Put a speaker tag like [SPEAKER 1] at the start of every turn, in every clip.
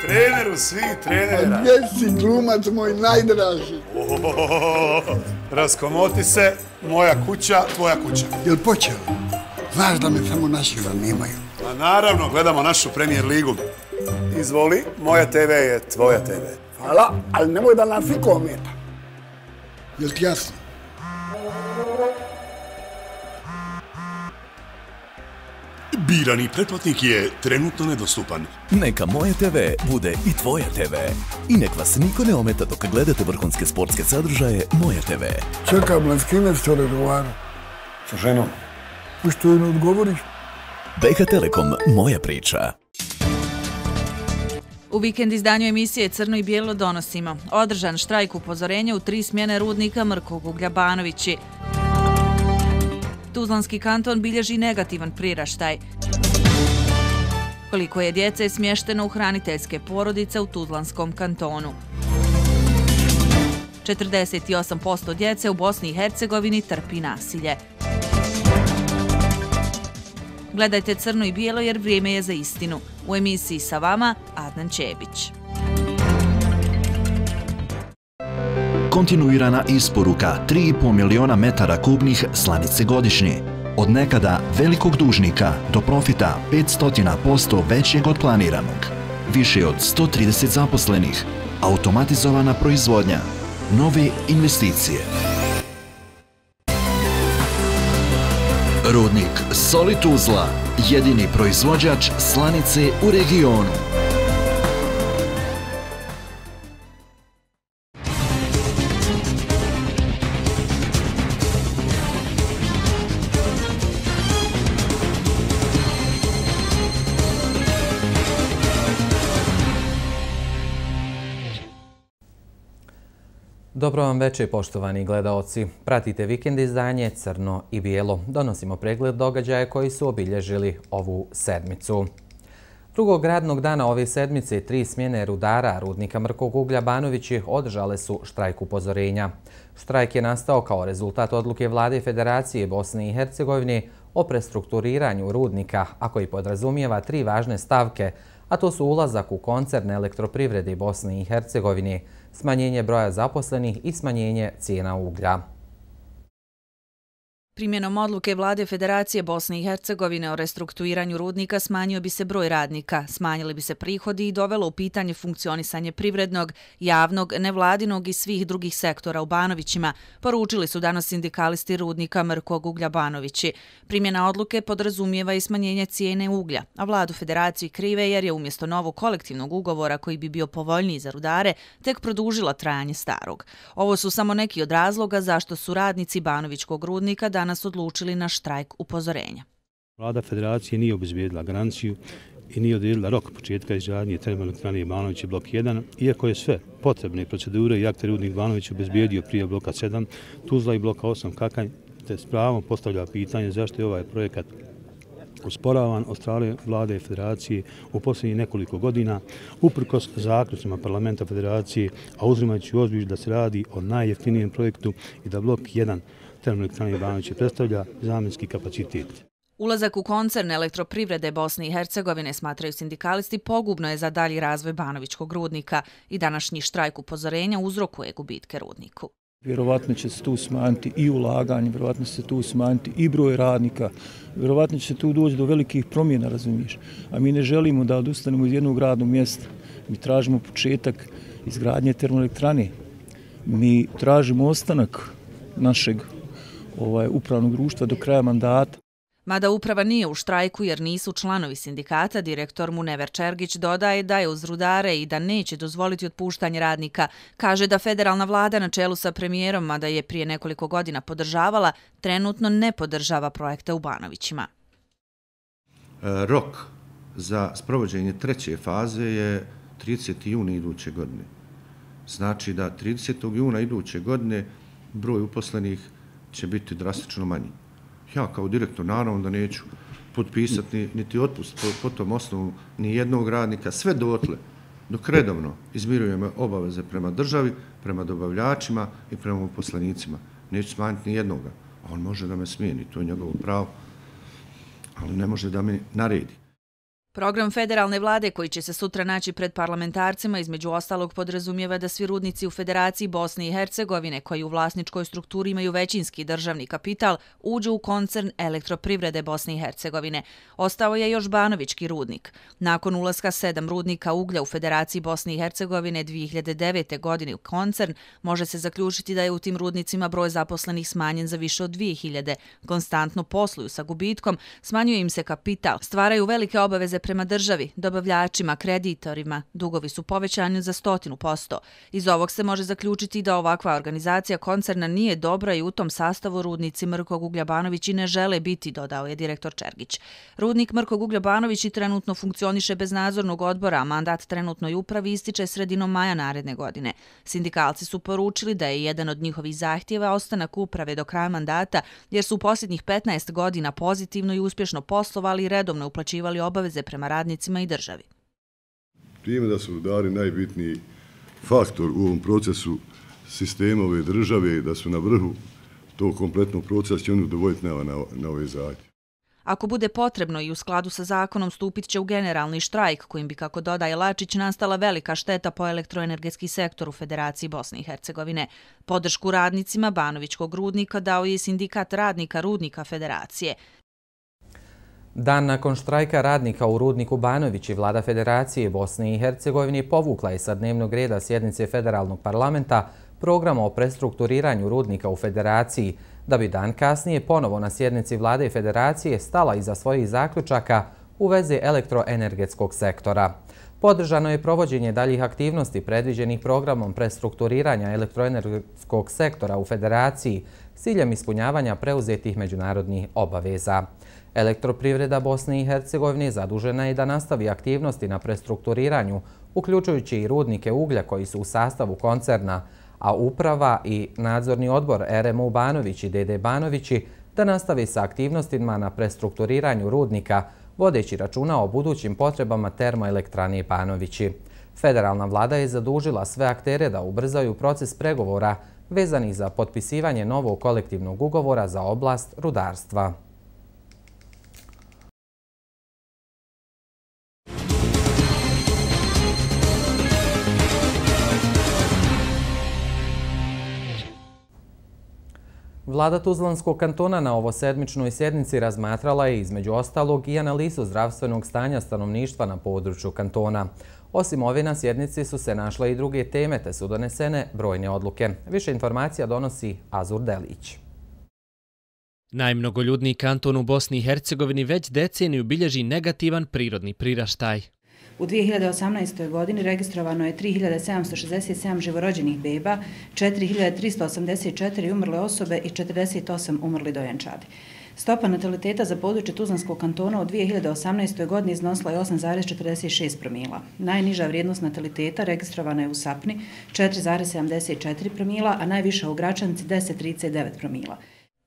[SPEAKER 1] treneru svih trenera.
[SPEAKER 2] A gdje si, glumac moj najdraži?
[SPEAKER 1] Raskomoti se, moja kuća, tvoja kuća.
[SPEAKER 2] Jel počelo? Znaš da me samo naši zanimaju.
[SPEAKER 1] A naravno, gledamo našu Premier ligu. Izvoli, moja TV je tvoja TV.
[SPEAKER 2] Hvala, ali nemoj da nas niko ometa. Jel ti jasno?
[SPEAKER 3] Birani pretplatnik je trenutno nedostupan.
[SPEAKER 4] Neka Moje TV bude i tvoja TV. I nek vas niko ne ometa dok gledate vrhunske sportske sadržaje Moje TV.
[SPEAKER 2] Čekam, s kime što razgovara?
[SPEAKER 1] Sa ženom.
[SPEAKER 2] Što joj ne odgovoriš?
[SPEAKER 4] BH Telekom, moja priča.
[SPEAKER 5] U vikend izdanju emisije Crno i bijelo donosimo. Održan štrajk upozorenja u 3 smjene rudnika Mrkog uglja Banovići. Tuzlanski kanton bilježi negativan priraštaj. Koliko je djece smješteno u hraniteljske porodice u Tuzlanskom kantonu. 48% djece u Bosni i Hercegovini trpi nasilje. Gledajte Crno i bijelo jer vrijeme je za istinu. U emisiji sa vama Adnan Čebić.
[SPEAKER 6] Kontinuirana isporuka 3,5 miliona metara kubnih slanice godišnje. Od nekada velikog dužnika do profita 500% većeg od planiranog. Više od 130 zaposlenih. Automatizovana proizvodnja. Nove investicije. Rudnik Soli Tuzla, jedini proizvođač slanice u regionu.
[SPEAKER 7] Dobro vam večer, poštovani gledaoci. Pratite vikend izdanje Crno i bijelo. Donosimo pregled događaja koji su obilježili ovu sedmicu. Drugog radnog dana ove sedmice 3 smjene rudara rudnika Mrkog uglja Banovići održale su štrajk upozorenja. Štrajk je nastao kao rezultat odluke Vlade Federacije Bosne i Hercegovine o prestrukturiranju rudnika, a koji podrazumijeva 3 važne stavke, a to su ulazak u koncern elektroprivrede Bosne i Hercegovine, smanjenje broja zaposlenih i smanjenje cijena uglja.
[SPEAKER 5] Primjenom odluke Vlade Federacije Bosne i Hercegovine o restrukturiranju rudnika smanjio bi se broj radnika, smanjili bi se prihodi i dovelo u pitanje funkcionisanje privrednog, javnog, nevladinog i svih drugih sektora u Banovićima, poručili su danas sindikalisti rudnika Mrkog uglja Banovići. Primjena odluke podrazumijeva i smanjenje cijene uglja, a Vladu Federaciji krive jer je umjesto novog kolektivnog ugovora koji bi bio povoljniji za rudare, tek produžila trajanje starog. Ovo su samo neki od razloga zašto su radnici Banovićkog rudnika danas odlučili na štrajk upozorenja.
[SPEAKER 8] Vlada Federacije nije obezbijedila garanciju i nije odredila rok početka izgradnje termoelektrane Banovići blok 1, iako je sve potrebne procedure i akte rudnik Banović obezbijedio prije bloka 7, Tuzla i bloka 8 Kakanj, te s pravom postavlja pitanje zašto je ovaj projekat usporavan od strane Vlade Federacije u posljednjih nekoliko godina, uprkos zaključcima Parlamenta Federacije, a uzimajući u obzir da se radi o najjeftinijem projektu i da blok 1 termoelektrane Banovići predstavlja zamjenski kapacitet.
[SPEAKER 5] Ulazak u koncern elektroprivrede Bosne i Hercegovine, smatraju sindikalisti, pogubno je za dalji razvoj Banovićkog rudnika i današnji štrajk upozorenja uzrokuje gubitke rudniku.
[SPEAKER 9] Vjerovatno će se tu smanjiti i ulaganje, vjerovatno će se tu smanjiti i broj radnika, vjerovatno će se tu doći do velikih promjena, razumiješ. A mi ne želimo da odustanemo iz jednog radnog mjesta. Mi tražimo početak izgradnje termoelektrane. Mi tražimo ostanak našeg upravnog društva do kraja mandata.
[SPEAKER 5] Mada uprava nije u štrajku jer nisu članovi sindikata, direktor Munever Čergić dodaje da je uz rudare i da neće dozvoliti otpuštanje radnika. Kaže da federalna vlada na čelu sa premijerom, mada je prije nekoliko godina podržavala, trenutno ne podržava projekte u Banovićima.
[SPEAKER 10] Rok za sprovođenje treće faze je 30. juna iduće godine. Znači da 30. juna iduće godine broj uposlenih će biti drastično manji. Ja kao direktor naravno da neću potpisati niti otpust po tom osnovu ni jednog radnika, sve dotle dok redovno izmirujemo obaveze prema državi, prema dobavljačima i prema uposlenicima. Neću smanjiti ni jednoga. On može da me smijeni, to je njegovo pravo, ali ne može da mi naredi.
[SPEAKER 5] Program federalne vlade koji će se sutra naći pred parlamentarcima između ostalog podrazumijeva da svi rudnici u Federaciji Bosne i Hercegovine koji u vlasničkoj strukturi imaju većinski državni kapital uđu u koncern Elektroprivrede Bosne i Hercegovine. Ostao je još Banovićki rudnik. Nakon ulaska 7 rudnika uglja u Federaciji Bosne i Hercegovine 2009. godine u koncern, može se zaključiti da je u tim rudnicima broj zaposlenih smanjen za više od 2000. Konstantno posluju sa gubitkom, smanjuje im se kapital, stvaraju velike obaveze prema državi, dobavljačima, kreditorima. Dugovi su povećani za 100%. Iz ovog se može zaključiti da ovakva organizacija koncerna nije dobra i u tom sastavu rudnici Mrkog uglja Banović i ne žele biti, dodao je direktor Čergić. Rudnik Mrkog uglja Banović i trenutno funkcioniše bez nadzornog odbora, a mandat trenutnoj upravi ističe sredinom maja naredne godine. Sindikalci su poručili da je jedan od njihovih zahtjeva ostanak uprave do kraja mandata, jer su u posljednjih 15 godina pozitivno i uspješno poslovali i redovno uplaćivali obaveze prema radnicima i državi.
[SPEAKER 11] Time da su rudari najbitniji faktor u ovom procesu sistema ove države, da su na vrhu tog kompletnog procesa, će oni udovoljiti na ove zahtjeve.
[SPEAKER 5] Ako bude potrebno i u skladu sa zakonom stupit će u generalni štrajk kojim bi, kako dodaje Lačić, nastala velika šteta po elektroenergetski sektor u Federaciji Bosne i Hercegovine. Podršku radnicima Banovićkog rudnika dao je sindikat radnika Rudnika Federacije.
[SPEAKER 7] Dan nakon štrajka radnika u rudniku Banović i vlada Federacije Bosne i Hercegovine povukla je sa dnevnog reda sjednice Federalnog parlamenta program o prestrukturiranju rudnika u Federaciji, da bi dan kasnije ponovo na sjednici vlade Federacije stala iza svojih zaključaka u vezi elektroenergetskog sektora. Podržano je provođenje daljih aktivnosti predviđenih programom prestrukturiranja elektroenergetskog sektora u Federaciji s ciljem ispunjavanja preuzetih međunarodnih obaveza. Elektroprivreda Bosne i Hercegovine zadužena je da nastavi aktivnosti na prestrukturiranju, uključujući i rudnike uglja koji su u sastavu koncerna, a uprava i nadzorni odbor RMU Banović i DD Banovići da nastavi sa aktivnostima na prestrukturiranju rudnika, vodeći računa o budućim potrebama termoelektrane Banovići. Federalna vlada je zadužila sve aktere da ubrzaju proces pregovora vezanih za potpisivanje novog kolektivnog ugovora za oblast rudarstva. Vlada Tuzlanskog kantona na ovosedmičnoj sjednici razmatrala je između ostalog i analizu zdravstvenog stanja stanovništva na području kantona. Osim ove na sjednici su se našle i druge teme te su donesene brojne odluke. Više informacija donosi Azur Delić.
[SPEAKER 12] Najmnogoljudniji kanton u Bosni i Hercegovini već deceniju bilježi negativan prirodni priraštaj.
[SPEAKER 13] U 2018. godini registrovano je 3767 živorođenih beba, 4384 umrle osobe i 48 umrli dojenčadi. Stopa nataliteta za područje Tuzlanskog kantona u 2018. godini iznosila je 8,46 promila. Najniža vrijednost nataliteta registrovana je u Sapni 4,74 promila, a najviša u Gračanici 10,39 promila.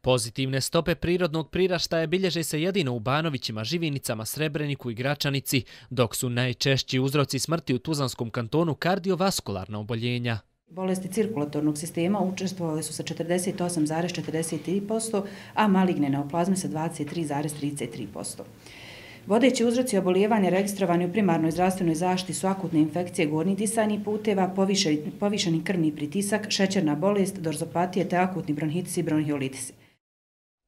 [SPEAKER 12] Pozitivne stope prirodnog priraštaja bilježe se jedino u Banovićima, Živinicama, Srebreniku i Gračanici, dok su najčešći uzroci smrti u Tuzlanskom kantonu kardiovaskularna oboljenja.
[SPEAKER 13] Bolesti cirkulatornog sistema učestvovali su sa 48,43%, a maligne neoplazme sa 23,33%. Vodeći uzroci obolijevanja registrovani u primarnoj zdravstvenoj zaštiti su akutne infekcije gornjih disajnih puteva, povišeni krvni pritisak, šećerna bolest, dorzopatije te akutni bronhitis i bronhiolitisi.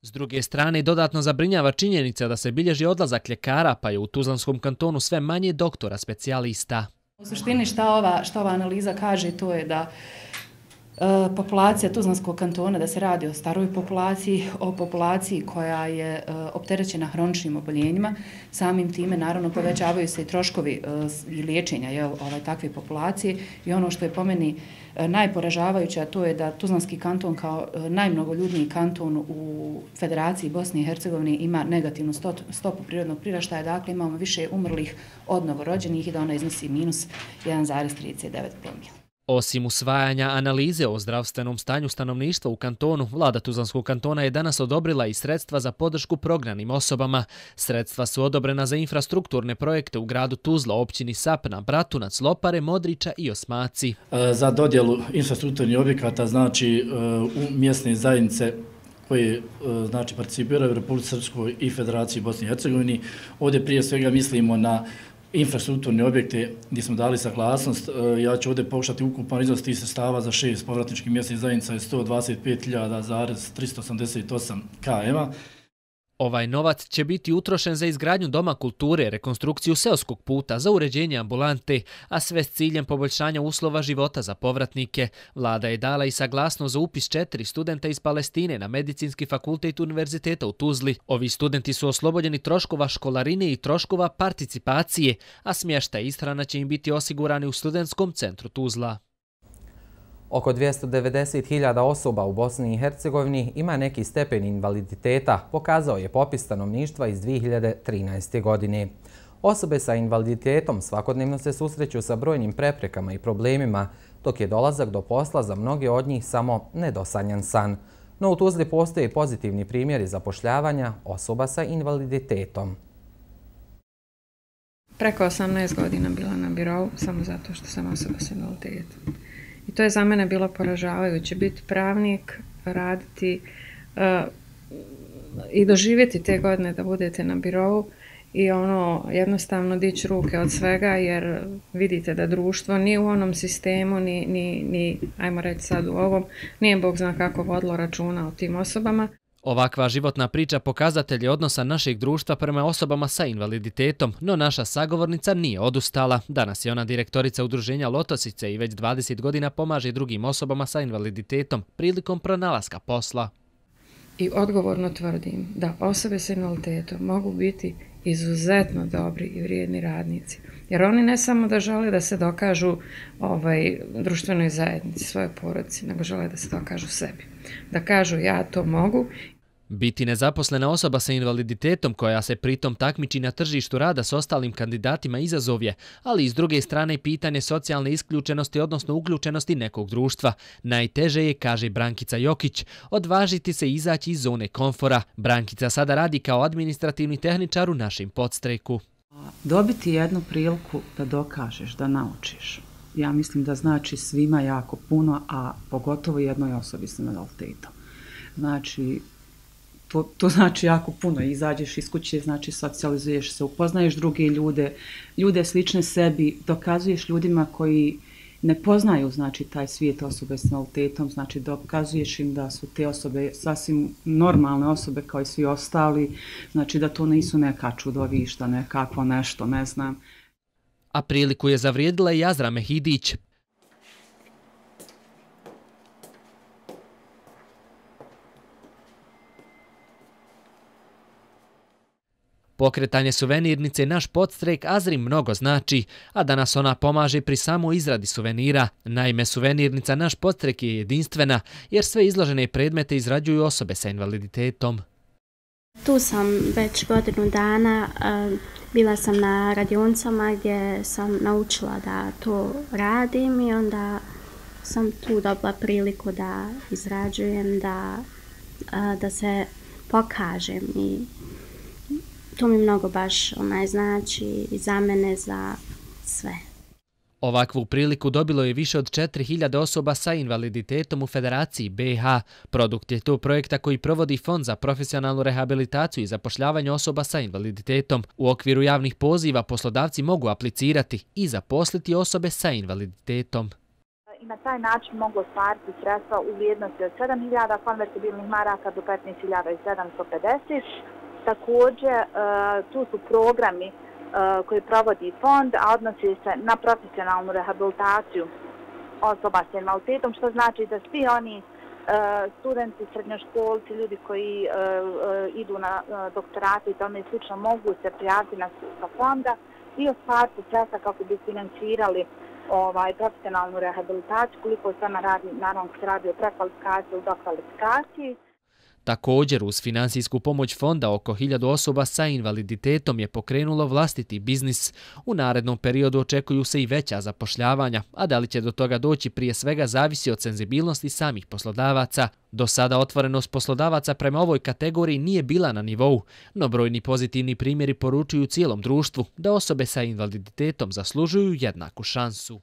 [SPEAKER 12] S druge strane, dodatno zabrinjava činjenica da se bilježi odlazak ljekara, pa je u Tuzlanskom kantonu sve manje doktora specijalista.
[SPEAKER 13] U suštini šta ova analiza kaže, to je da populacija Tuzlanskog kantona, da se radi o staroj populaciji, o populaciji koja je opterećena hroničnim oboljenjima. Samim time, naravno, povećavaju se i troškovi i liječenja takve populacije i ono što je po meni najporažavajuće, a to je da Tuzlanski kanton kao najmnogoljudniji kanton u Federaciji Bosne i Hercegovine ima negativnu stopu prirodnog priraštaja, dakle imamo više umrlih od novorođenih i da ona iznosi minus 1,39 promila.
[SPEAKER 12] Osim usvajanja analize o zdravstvenom stanju stanovništva u kantonu, vlada Tuzlanskog kantona je danas odobrila i sredstva za podršku prognanim osobama. Sredstva su odobrena za infrastrukturne projekte u gradu Tuzla, općini Sapna, Bratunac, Lopare, Modrića i Osmaci.
[SPEAKER 14] Za dodjelu infrastrukturnih objekata, znači u mjesne zajednice koje znači participiraju u Republici Srpskoj i Federaciji Bosne i Hercegovini. Ovdje prije svega mislimo na infrastrukturne objekte gdje smo dali saglasnost. Ja ću ovdje pokušati ukupan iznos tih sredstava za 6 povratničkih mjesnih zajednica je 125.388 km.
[SPEAKER 12] Ovaj novac će biti utrošen za izgradnju doma kulture, rekonstrukciju seoskog puta, za uređenje ambulante, a sve s ciljem poboljšanja uslova života za povratnike. Vlada je dala i saglasnost za upis 4 studenta iz Palestine na Medicinski fakultet Univerziteta u Tuzli. Ovi studenti su oslobođeni troškova školarine i troškova participacije, a smještaj i ishrana će im biti osigurani u Studentskom centru Tuzla.
[SPEAKER 7] Oko 290.000 osoba u Bosni i Hercegovini ima neki stepen invaliditeta, pokazao je popis stanovništva iz 2013. godine. Osobe sa invaliditetom svakodnevno se susreću sa brojnim preprekama i problemima, dok je dolazak do posla za mnoge od njih samo nedosanjan san. No u Tuzli postoje pozitivni primjeri zapošljavanja osoba sa invaliditetom.
[SPEAKER 15] Preko 18 godina bila na birovu samo zato što sam osoba sa invaliditetom. I to je za mene bilo poražavajuće, biti pravnik, raditi i doživjeti te godine da budete na birovu i jednostavno dići ruke od svega jer vidite da društvo ni u onom sistemu, ni ajmo reći sad u ovom, nije Bog zna kako vodilo računa o tim osobama.
[SPEAKER 12] Ovakva životna priča pokazatelj je odnosa našeg društva prema osobama sa invaliditetom, no naša sagovornica nije odustala. Danas je ona direktorica udruženja Lotosice i već 20 godina pomaže drugim osobama sa invaliditetom prilikom pronalaska posla.
[SPEAKER 15] I odgovorno tvrdim da osobe sa invaliditetom mogu biti izuzetno dobri i vrijedni radnici. Jer oni ne samo da žele da se dokažu društvenoj zajednici, svoje porodici, nego žele da se dokažu sebi. Da kažu ja to mogu.
[SPEAKER 12] Biti nezaposlena osoba sa invaliditetom koja se pritom takmiči na tržištu rada s ostalim kandidatima izazov je, ali i s druge strane pitanje socijalne isključenosti, odnosno uključenosti nekog društva. Najteže je, kaže Brankica Jokić, odvažiti se izaći iz zone komfora. Brankica sada radi kao administrativni tehničar u našem Podstreku.
[SPEAKER 16] Dobiti jednu priliku da dokažeš, da naučiš. Ja mislim da znači svima jako puno, a pogotovo jednoj osobi s invaliditetom. Znači, to znači jako puno. Izađeš iz kuće, znači socijalizuješ se, upoznaješ druge ljude slične sebi, dokazuješ ljudima koji ne poznaju znači taj svijet osobe s invaliditetom, znači dokazuješ im da su te osobe sasvim normalne osobe kao i svi ostali, znači da to nisu neka čudovišta, nekakvo nešto, ne znam.
[SPEAKER 12] A priliku je zavrijedila i Azra Mehidić. Pokretanje suvenirnice Naš Podstrek Azri mnogo znači, a danas ona pomaže pri samoj izradi suvenira. Naime, suvenirnica Naš Podstrek je jedinstvena, jer sve izložene predmete izrađuju osobe sa invaliditetom.
[SPEAKER 17] Tu sam već godinu dana, bila sam na radionicama gdje sam naučila da to radim i onda sam tu dobila priliku da izrađujem, da se pokažem i to mi mnogo baš znači i za mene, za sve.
[SPEAKER 12] Ovakvu priliku dobilo je više od 4.000 osoba sa invaliditetom u Federaciji BiH. Produkt je to projekta koji provodi Fond za profesionalnu rehabilitaciju i zapošljavanje osoba sa invaliditetom. U okviru javnih poziva poslodavci mogu aplicirati i zaposliti osobe sa invaliditetom.
[SPEAKER 18] I na taj način mogu ostvariti sredstva u vrijednosti od 7.000 konvertibilnih maraka do 15.750. Također, tu su programi koji provodi fond, a odnosi se na profesionalnu rehabilitaciju osoba s invaliditetom, što znači da svi oni studenti, srednjoškolci, ljudi koji idu na doktorate i tome slično mogu se prijaviti na sredstva fonda i ostvariti sredstva kako bi financirali profesionalnu rehabilitaciju, koliko se ona radi, naravno se radi o prekvalifikaciji u dokvalifikaciji.
[SPEAKER 12] Također, uz finansijsku pomoć fonda oko 1000 osoba sa invaliditetom je pokrenulo vlastiti biznis. U narednom periodu očekuju se i veća zapošljavanja, a da li će do toga doći prije svega zavisi od senzibilnosti samih poslodavaca. Do sada otvorenost poslodavaca prema ovoj kategoriji nije bila na nivou, no brojni pozitivni primjeri poručuju cijelom društvu da osobe sa invaliditetom zaslužuju jednaku šansu.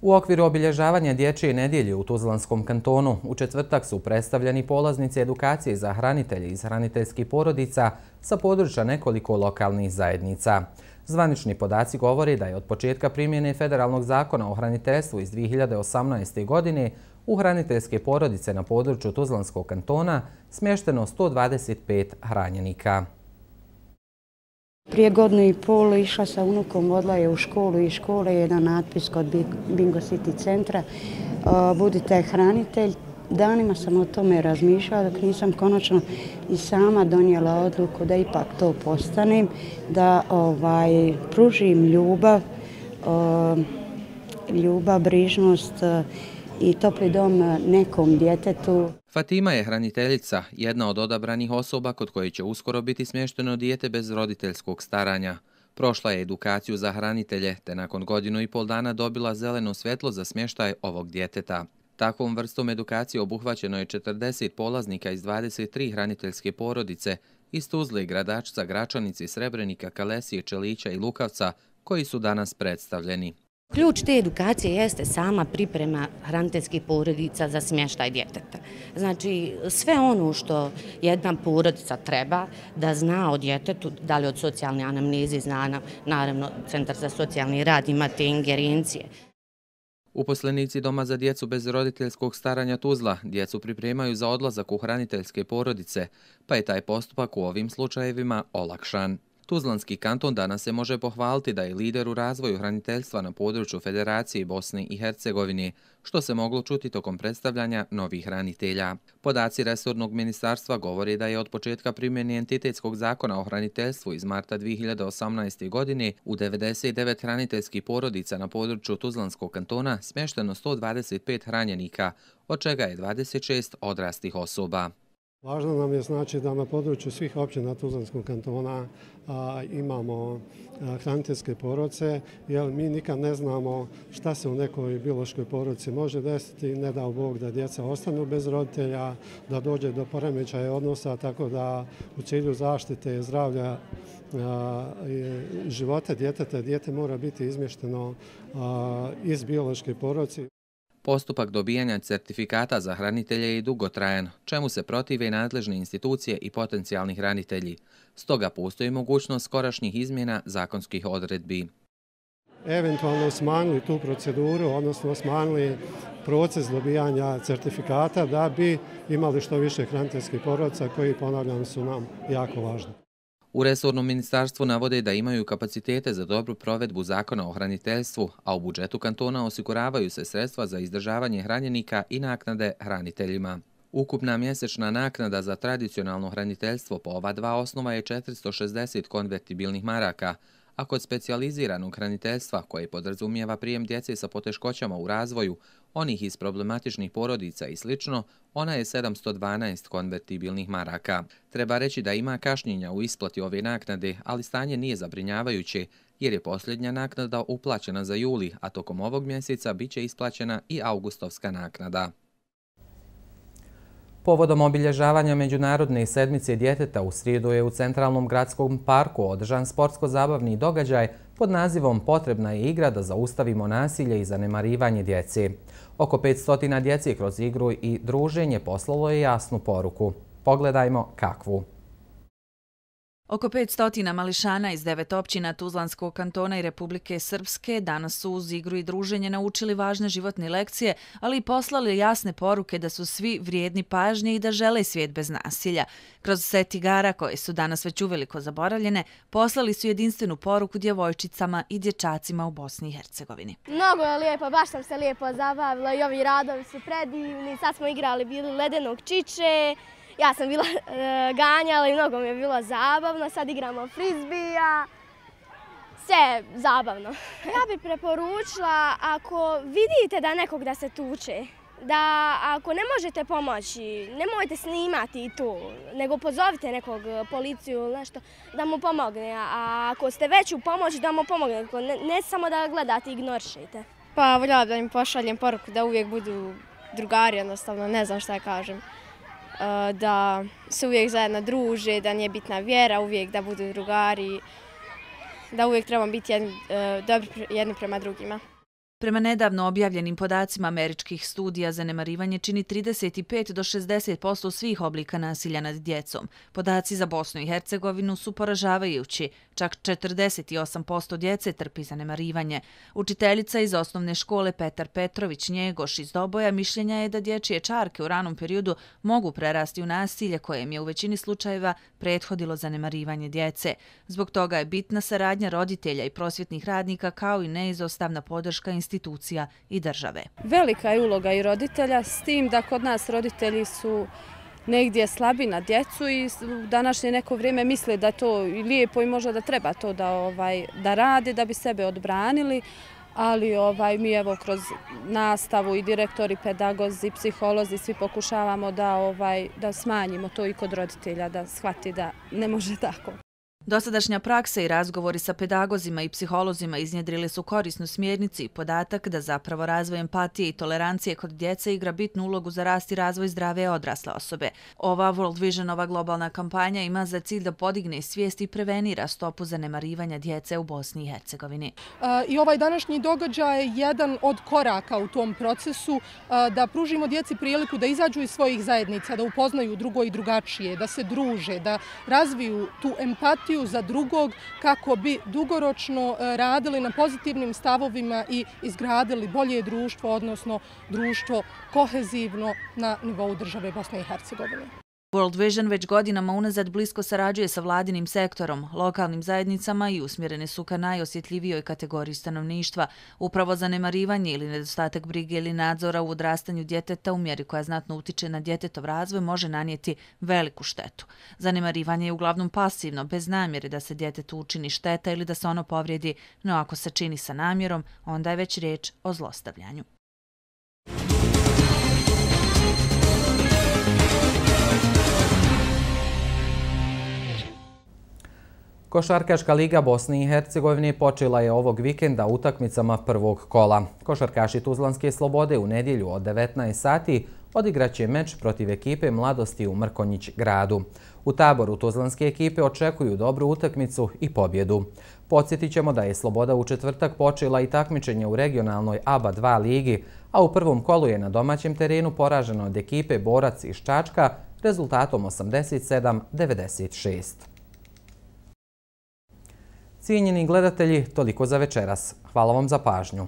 [SPEAKER 7] U okviru obilježavanja Dječje nedjelje u Tuzlanskom kantonu u četvrtak su predstavljeni polaznici edukacije za hranitelje iz hraniteljskih porodica sa područja nekoliko lokalnih zajednica. Zvanični podaci govori da je od početka primjene Federalnog zakona o hraniteljstvu iz 2018. godine u hraniteljske porodice na području Tuzlanskog kantona smješteno 125 hranjenika.
[SPEAKER 19] Prije godinu i pol išla sa unukom, odla je u školu i škole je jedan natpis kod Bingo City centra. Budite hranitelj. Danima sam o tome razmišljala dok nisam konačno i sama donijela odluku da ipak to postanem, da pružim ljubav, brižnost i topli dom nekom djetetu.
[SPEAKER 7] Fatima je hraniteljica, jedna od odabranih osoba kod koje će uskoro biti smješteno dijete bez roditeljskog staranja. Prošla je edukaciju za hranitelje, te nakon 1,5 dana dobila zeleno svjetlo za smještaj ovog djeteta. Takvom vrstom edukacije obuhvaćeno je 40 polaznika iz 23 hraniteljske porodice iz Tuzle, Gradačca, Gračanice, Srebrenika, Kalesije, Čelića i Lukavca, koji su danas predstavljeni.
[SPEAKER 20] Ključ te edukacije jeste sama priprema hraniteljskih porodica za smještaj djeteta. Znači, sve ono što jedna porodica treba da zna o djetetu, da li od socijalne anamneze zna, naravno, Centar za socijalni rad ima te ingerencije.
[SPEAKER 7] Uposlenici Doma za djecu bez roditeljskog staranja Tuzla djecu pripremaju za odlazak u hraniteljske porodice, pa je taj postupak u ovim slučajevima olakšan. Tuzlanski kanton danas se može pohvaliti da je lider u razvoju hraniteljstva na području Federacije Bosne i Hercegovine, što se moglo čuti tokom predstavljanja novih hranitelja. Podaci resornog ministarstva govori da je od početka primjene entitetskog zakona o hraniteljstvu iz marta 2018. godine u 99 hraniteljskih porodica na području Tuzlanskog kantona smješteno 125 hranjenika, od čega je 26 odraslih osoba.
[SPEAKER 21] Važno nam je znači da na području svih općina Tuzlanskog kantona imamo hraniteljske porodice, jer mi nikad ne znamo šta se u nekoj biološkoj porodici može desiti, ne dao Bog da djeca ostanu bez roditelja, da dođe do poremećaja odnosa, tako da u cilju zaštite zdravlja života djeteta, dijete mora biti izmješteno iz biološke porodice.
[SPEAKER 7] Postupak dobijanja certifikata za hranitelje je dugotrajan, čemu se protive nadležne institucije i potencijalni hranitelji. Stoga postoji mogućnost skorašnjih izmjena zakonskih odredbi.
[SPEAKER 21] Eventualno smanjili tu proceduru, odnosno smanjili proces dobijanja certifikata da bi imali što više hraniteljskih porodica koji, ponavljam, su nam jako važni.
[SPEAKER 7] U resornom ministarstvu navode da imaju kapacitete za dobru provedbu zakona o hraniteljstvu, a u budžetu kantona osiguravaju se sredstva za izdržavanje hranjenika i naknade hraniteljima. Ukupna mjesečna naknada za tradicionalno hraniteljstvo po ova dva osnova je 460 konvertibilnih maraka, a kod specijaliziranog hraniteljstva, koje podrazumijeva prijem djece sa poteškoćama u razvoju, onih iz problematičnih porodica i sl., ona je 712 konvertibilnih maraka. Treba reći da ima kašnjenja u isplati ove naknade, ali stanje nije zabrinjavajuće, jer je posljednja naknada uplaćena za juli, a tokom ovog mjeseca bit će isplaćena i augustovska naknada. Povodom obilježavanja Međunarodne sedmice djeteta u srijedu je u Centralnom gradskom parku održan sportsko-zabavni događaj pod nazivom Potrebna je igra da zaustavimo nasilje i zanemarivanje djece. Oko 500 djece kroz igru i druženje poslalo je jasnu poruku. Pogledajmo kakvu.
[SPEAKER 5] Oko 500 mališana iz 9 općina Tuzlanskog kantona i Republike Srpske danas su uz igru i druženje naučili važne životne lekcije, ali i poslali jasne poruke da su svi vrijedni pažnje i da žele svijet bez nasilja. Kroz set igara, koje su danas već uveliko zaboravljene, poslali su jedinstvenu poruku djevojčicama i dječacima u Bosni i Hercegovini.
[SPEAKER 22] Mnogo je lijepo, baš sam se lijepo zabavila i ovi radovi su predivni. Sad smo igrali bili ledenog čiče. Ja sam bila ganjala i mnogo mi je bilo zabavno, sad igramo frizbija, sve je zabavno. Ja bih preporučila, ako vidite da nekog da se tuče, da ako ne možete pomoći, nemojte snimati to, nego pozovite nekog, policiju ili nešto, da mu pomogne. A ako ste već u pomoći, da mu pomogne, ne samo da gledate i ignorišete.
[SPEAKER 23] Pa voljela da im pošaljem poruku da uvijek budu drugari, jednostavno, ne znam šta kažem. Da se uvijek zajedno druže, da nije bitna vjera, uvijek da budu drugari, da uvijek trebamo biti dobri jedni prema drugima.
[SPEAKER 5] Prema nedavno objavljenim podacima američkih studija, zanemarivanje čini 35 do 60% svih oblika nasilja nad djecom. Podaci za Bosnu i Hercegovinu su poražavajući. Čak 48% djece trpi zanemarivanje. Učiteljica iz osnovne škole Petar Petrović Njegoš iz Doboja mišljenja je da dječje čarke u ranom periodu mogu prerasti u nasilje kojem je u većini slučajeva prethodilo zanemarivanje djece. Zbog toga je bitna saradnja roditelja i prosvjetnih radnika kao i neizostavna podrška institucija i države.
[SPEAKER 1] Velika je uloga i roditelja, s tim da kod nas roditelji su negdje slabi na djecu i u današnje neko vrijeme misle da je to lijepo i možda da treba to da rade, da bi sebe odbranili, ali mi evo kroz nastavu i direktori, pedagozi, psiholozi, svi pokušavamo da smanjimo to i kod roditelja, da shvati da ne može tako.
[SPEAKER 5] Dosadašnja praksa i razgovori sa pedagozima i psiholozima iznjedrili su korisnu smjernicu i podatak da zapravo razvoj empatije i tolerancije kod djece igra bitnu ulogu za rast i razvoj zdrave odrasle osobe. Ova World Visionova globalna kampanja ima za cilj da podigne svijest i prevenira stopu zanemarivanja djece u Bosni i Hercegovini.
[SPEAKER 2] I ovaj današnji događaj je jedan od koraka u tom procesu da pružimo djeci priliku da izađu iz svojih zajednica, da upoznaju drugo i drugačije, da se druže, da razviju tu empatiju za drugog kako bi dugoročno radili na pozitivnim stavovima i izgradili bolje društvo, odnosno društvo kohezivno na nivou države Bosne i Hercegovine.
[SPEAKER 5] World Vision već godinama unazad blisko sarađuje sa vladinim sektorom, lokalnim zajednicama i usmjerene su ka najosjetljivijoj kategoriji stanovništva. Upravo zanemarivanje ili nedostatak brige ili nadzora u odrastanju djeteta u mjeri koja znatno utiče na djetetov razvoj može nanijeti veliku štetu. Zanemarivanje je uglavnom pasivno, bez namjere da se djetetu učini šteta ili da se ono povrijedi, no ako se čini sa namjerom, onda je već riječ o zlostavljanju.
[SPEAKER 7] Košarkaška liga Bosne i Hercegovine počela je ovog vikenda utakmicama prvog kola. Košarkaši Tuzlanske Slobode u nedjelju od 19 sati odigraće meč protiv ekipe Mladosti u Mrkonjić gradu. U taboru Tuzlanske ekipe očekuju dobru utakmicu i pobjedu. Podsjetit ćemo da je Sloboda u četvrtak počela i takmičenje u regionalnoj ABA 2 ligi, a u prvom kolu je na domaćem terenu poraženo od ekipe Borac iz Čačka rezultatom 87-96. Cijenjeni gledatelji, toliko za večeras. Hvala vam za pažnju.